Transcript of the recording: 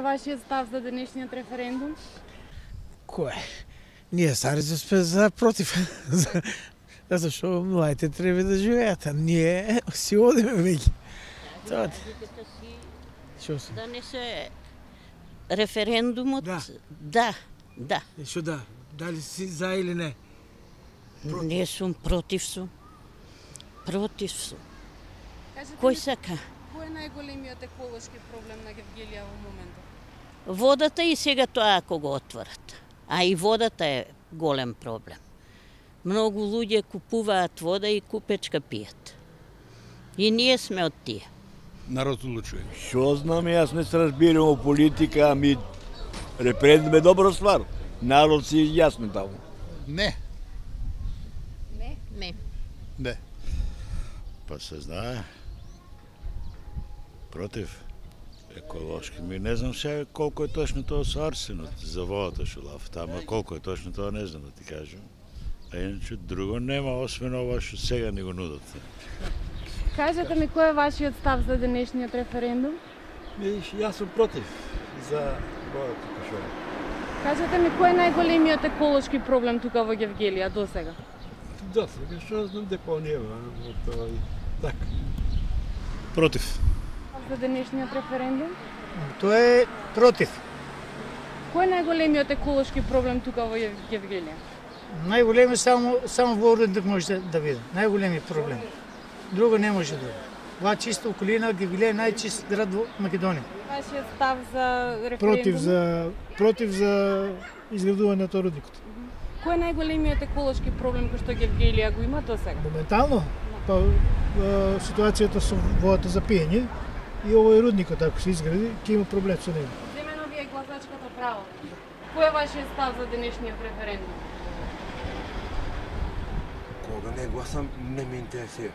е вашиот став за денешниот референдум? Кој? Ние старите сме за против. Зашто младите треба да живеат, а ние си одиме веќе. Тоа Што се? Да не се референдумот? Да. Што да? Дали си за или не? Не сум против сум. Кој сака? Кој е најголемиот еколошки проблем на Гевгелија во моментот? Водата и сега тоа ако го отворат. А и водата е голем проблем. Многу луѓе купуваат вода и купечка пијат. И ние сме од тие. Народ одлучува. Што знам, јас не се разбирам о политика, ами референдум е добра ствар. Народ си јасно таму. Не. Не. Па се знае. Против. Еколошки. Ми не знам сега колку е точно тоа со арсенот за водата што лав тама, колку е точно тоа не знам да ти кажам. А иначе друго нема, освен ова што сега ни го нудат. Кажете ми кој е вашиот став за денешниот референдум? Јас сум против за водата кашова. Кажете ми кој е најголемиот еколошки проблем тука во Гевгелија до сега? Да, сега што знам депонија, така. Против. За денешниот референдум? Тоа е против. Кој е најголемиот еколошки проблем тука во Гевгелија? Најголеми само во Орденок може да види. Најголеми проблем. Друго не може друго. Ова чиста околина, Гевгелија е најчист град во Македонија. Вашиот став за референдум? Против за изградување на рудникот. Кој е најголемиот еколошки проблем кој што Гевгелија го има до сега? Моментално, па ситуацијата со водата за пиење и овој рудникот ако се изгради, ќе има проблем со него. Земено ви е гласачкото право. Кој е вашиот став за денешниот референдум? Кога не гласам, не ме интересира.